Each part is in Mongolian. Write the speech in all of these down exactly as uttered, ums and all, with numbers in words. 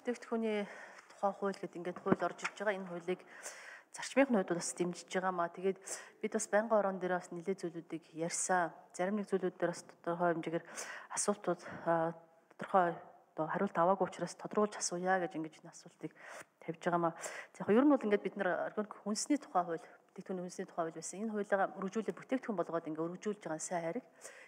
бүтээгдэхүүний тухай хууль гэдэг ингээд хууль орж ирж байгаа. Энэ хуулийг зарчмын хувьд бас дэмжиж байгаа маа. Тэгээд бид бас байнгын орон дээр бас нэлээд зүйлүүдийг ярьсан. Зарим нэг зүйлүүд дээр бас тодорхой хэмжээгээр асуултууд тодорхой одоо хариулт аваагүй учраас тодруулж асууя гэж ингэж энэ асуултыг тавьж байгаа маа. За яг ер нь бол ингээд бид нар органик хүнсний тухай хууль, бүтээгдэхүүний хүнсний тухай хууль байсан. Энэ хуулигаа өргөжүүлээ бүтээгдэхүүн болгоод ингээд өргөжүүлж байгаа сайн хариг.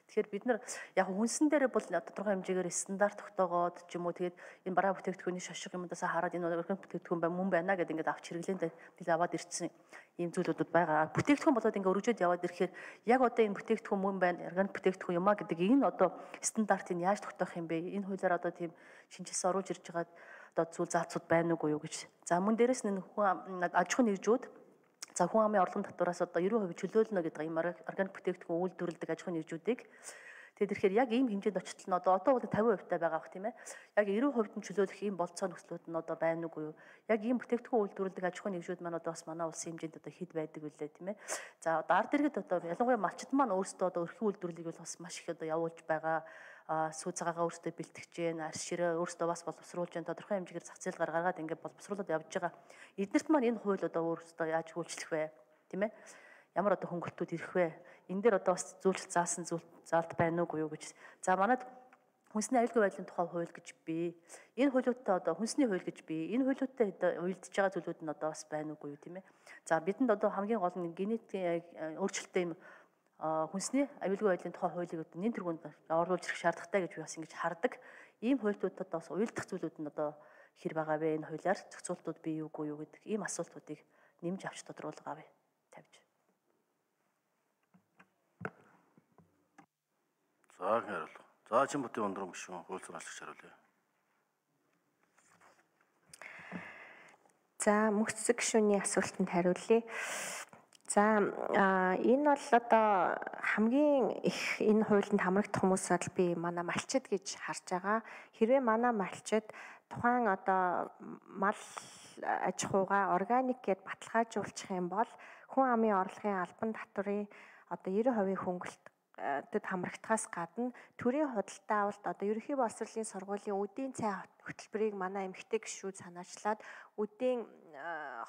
Тэгэхээр бид нар яг хүнсэн дээр бол тодорхой хэмжээгээр стандарт тогтоогоод ч юм уу тэгээд энэ бараа бүтээгдэхүүний шошго юмудаас хараад энэ органик бүтээгдэхүүн бай мөн байна гэдэг ингээд авч хэрэглээнд бид аваад ирсэн ийм зүйлүүд байгаа. Бүтээгдэхүүн болоод ингээд өргөжөөд яваад ирэхээр яг одоо энэ бүтээгдэхүүн мөн байна, органик бүтээгдэхүүн юм а гэдэг энэ одоо стандартыг яаж тогтоох юм бэ? Энэ хуулиар одоо тийм шинжилгээ оруулж ирж байгаа одоо зүйл заалцууд байна уугүй юу гэж. За мөн дээрэс нь хүн аж ахуйн нэгжүүд за хүн амын орлогын татвараас одоо ninety percent чөлөөлнө гэдэг ийм органик бүтээгдэхүүн үйлдвэрлэдэг аж ахуйн нэгжүүдийг тэгээд ирэхээр яг ийм хэмжээнд очтол нь одоо одоо бол fifty percent таа байгаа бох тийм ээ. Яг ninety percent нь чөлөөлөх ийм болцоо нөхцлүүд нь одоо байна уугүй юу. Яг ийм бүтээгдэхүүн үйлдвэрлэдэг аж ахуйн нэгжүүд маань одоо бас манай улсын хэмжээнд одоо хэд байдаг вүлээ тийм ээ. За одоо ард иргэд одоо ялангуяа малчид маань өөрсдөө одоо өрхийн үйлдвэрлэлийг бол бас маш их одоо явуулж байгаа. Сүү цагаагаа өөрсдөө бэлтгэж जैन, арс ширээ өөрсдөө бас боловсруулж जैन тодорхой хэмжээгээр зах зээл гаргаад ингээд боловсруулаад явж байгаа. Эднэрт маань энэ хууль одоо өөрсдөө яаж хөлчлөх вэ? Тийм ээ. Ямар одоо хөнгөлтүүд ирэх вэ? Энэ дээр одоо бас зүйлч заасан зүйл заалт байна уугүй юу гэж. За манайд хүнсний аюулгүй байдлын тухай хууль гэж бий. Энэ хуулиудтай одоо хүнсний хууль гэж бий. Энэ хуулиудтай одоо уялдж байгаа зүйлүүд нь одоо бас байна уугүй юу тийм ээ. За бидэнд одоо хамгийн гол нь генетикийн өөрчлөлттэй юм хүнсний аюулгүй байдлын тухай хуулийг одоо нэн тэргуунд оруулж ирэх шаардлагатай гэж би бас ингэж хардаг. Ийм хуулиудад бас уялдах зүйлүүд нь одоо хэр байгаа вэ? Энэ хуулиар зохицуултууд бий үгүй юу гэдэг ийм асуултуудыг нэмж авч тодруулгаа вэ? Тавьж. За хариулга. За чин бүтэн өндрөн гүшүүн хууль зураалагч хариулъя. За мөхцөг гүшүүний асуултанд хариулъя. За энэ бол одоо хамгийн их энэ хуулинд хамрагдах хүмүүс бол би манай малчид гэж харж байгаа. Хэрвээ манай малчид тухайн одоо мал аж ахуйгаа органик гэд баталгаажуулчих юм бол хүн амын орлогын албан татврын одоо ninety percent хөнгөлөлт тэд хамрагдахаас гадна төрийн худалдаа авалт одоо ерөнхий боловсролын сургуулийн үдийн цай хөтөлбөрийг манай эмэгтэй гишүүд санаачлаад үдийн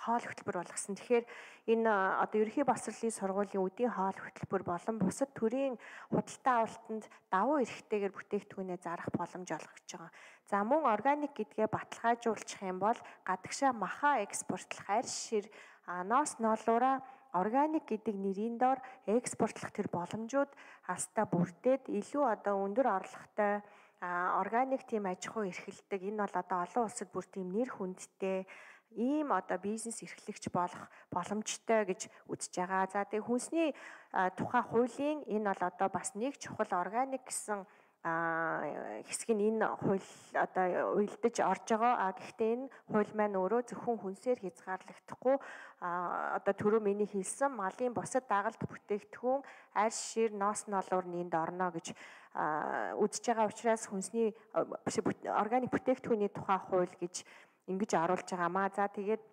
хоол хөтөлбөр болгосон. Тэгэхээр энэ одоо ерөнхий боловсролын сургуулийн үдийн хоол хөтөлбөр болон бусад төрийн худалдаа авалтанд давуу эрхтэйгээр бүтээгдэхүүнээ зарах боломж олгож байгаа. За мөн органик гэдгээ баталгаажуулчих юм бол гадагшаа маха экспортлох арьс шир ноос ноолуура органик гэдэг нэрийн доор экспортлох тэр боломжууд хастаа бүрдээд илүү одоо өндөр орлоготой органик тийм аж ахуй эрхэлдэг. Энэ бол одоо олон улсад бүр тийм нэр хүндтэй ийм одоо бизнес эрхлэгч болох боломжтой гэж үзэж байгаа. За тэгээ хүнсний тухай хуулийн энэ бол одоо бас нэг чухал органик гэсэн хэсэг нь энэ хууль одоо уялдаж орж байгаа. А гэхдээ энэ хууль маань өөрөө зөвхөн хүнсээр хязгаарлагдахгүй одоо түрүү миний хэлсэн малын бусад дагалт бүтээгдэхүүн арьс шир ноос ноолуурны энд орно гэж үзэж байгаа учраас хүнсний органик бүтээгдэхүүний тухай хууль гэж ингэж оруулж байгаамаа. За тэгээд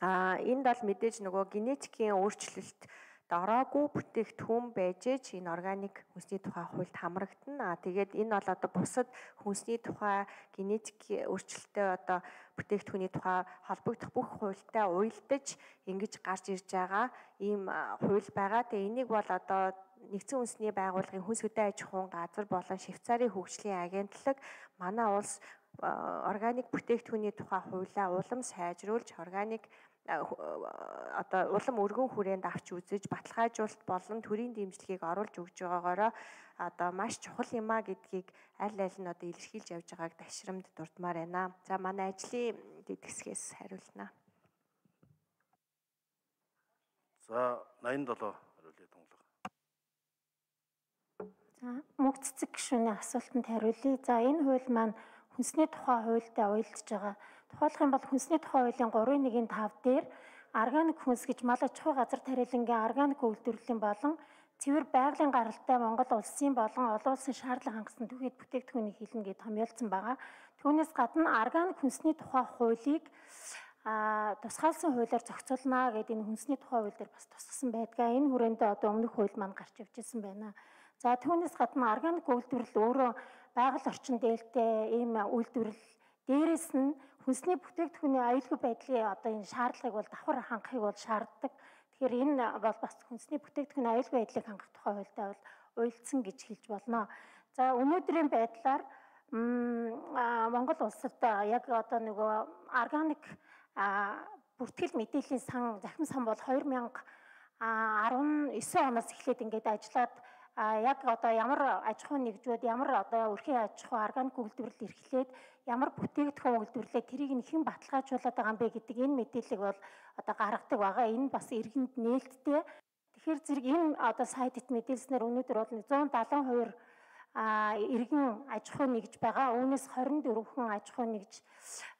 энд бол мэдээж нөгөө генетикийн өөрчлөлт ороогүй бүтээгдэхүүн байж ээж энэ органик хүнсний тухай хуульд хамрагдана. Тэгээд энэ бол одоо бусад хүнсний тухай генетик өөрчлөлттэй одоо бүтээгдэхүүний тухай холбогдох бүх хуультай уялдаж ингэж гарч ирж байгаа ийм хууль байгаа. Тэгээд энийг бол одоо нэгдсэн үндэсний байгууллагын хүнс хөдөө аж ахуйн газар болон Швейцарын хөгжлийн агентлаг манай улс органик бүтээгдэхүүний тухай хуулиа улам сайжруулж органик одоо улам өргөн хүрээнд авч үзэж баталгаажуулалт болон төрийн дэмжлэгийг оруулж өгж байгаагаараа одоо маш чухал юм а гэдгийг аль аль нь одоо илэрхийлж явж байгааг ташрамд дурдмаар байна. За манай ажлын дэдгсгээс хариулна. За ninety-seven хариулъя тунгалаг. За мөнх цэцэг гишүүний асуултанд хариулъя. За энэ хууль маань хүнсний тухай хуультай уялдж байгаа. Тухайлах юм бол хүнсний тухай хуулийн three one five дээр органик хүнс гэж мал аж ахуй газар тариалангийн органик үйлдвэрлэлийн болон цэвэр байгалийн гаралтай Монгол улсын болон олон улсын шаардлага хангасан түгээх бүтээгдэхүүнийг хилнэ гэж томьёолсон байгаа. Түүнээс гадна органик хүнсний тухай хуулийг а тусгаалсан хуулиар зохицуулна гэдэг энэ хүнсний тухай хууль дээр бас тусгасан байдгаа. Энэ хүрээндээ одоо өмнөх хууль маань гарч явж ирсэн байна. За түүнээс гадна органик үйлдвэрлэл өөрөө байгаль орчин дээлтэй ийм үйлдвэрлэл дээрээс нь хүнсний бүтээгдэхүүний аюулгүй байдлын одоо энэ шаардлагыг бол давхар хангахыг бол шаарддаг. Тэгэхээр энэ бол бас хүнсний бүтээгдэхүүний аюулгүй байдлыг хангах тухай хуультай бол уйлдсан гэж хэлж болно. За өнөөдрийн байдлаар Монгол улсад яг одоо нөгөө органик бүртгэл мэдээллийн сан захим сан бол хоёр мянга арван девять оноос эхлээд ингээд ажиллаад яг одоо ямар аж ахуйн нэгжүүд ямар одоо өрхийн аж ахуй органик үйлдвэрлэл эрхлээд ямар бүтээгдэхүүн үйлдвэрлээд тэрийг нь хэн баталгаажуулаад байгаа юм бэ гэдэг энэ мэдээллийг бол одоо гаргадаг байгаа. Энэ бас иргэнд нээлттэй. Тэгэхээр зэрэг энэ одоо сайдд мэдээлснээр өнөөдөр бол зуун даатан хоёр а иргэн аж ахуй нэгж байгаа. Үүнээс хорин дөрвөн аж ахуй нэгж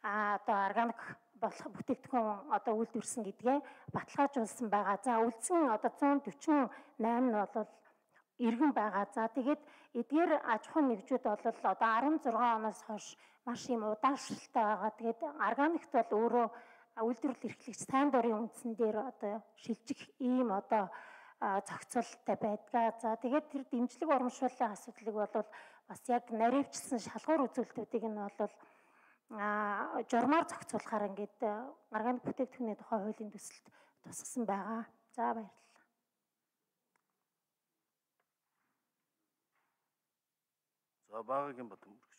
одоо органик болох бүтээгдэхүүн одоо үйлдвэрсэн гэдгээ баталгаажуулсан байгаа. За үлдсэн одоо зуун дөрвөн восемь нь бол иргэн байгаа. За тэгээд эдгээр аж ахуй нэгжүүд бол одоо арван зургаан оноос хойш маш юм удаашралтай байгаа. Тэгээд органикт бол өөрөө үйлдвэрлэл эрхлэгч сайн дурын үндсэн дээр одоо шилжих ийм одоо зохицуулттай байдгаа. За тэгээд тэр дэмжлэг урамшууллын асуудлыг бол бас яг наривчилсан шалгуур үзүүлэлтүүдийг нь бол а журмаар зохицуулахаар ингээд органик бүтээгдэхүүний тухай хуулийн төсөлд тусгасан байгаа. За баярлалаа. За багагийн Батбаяр.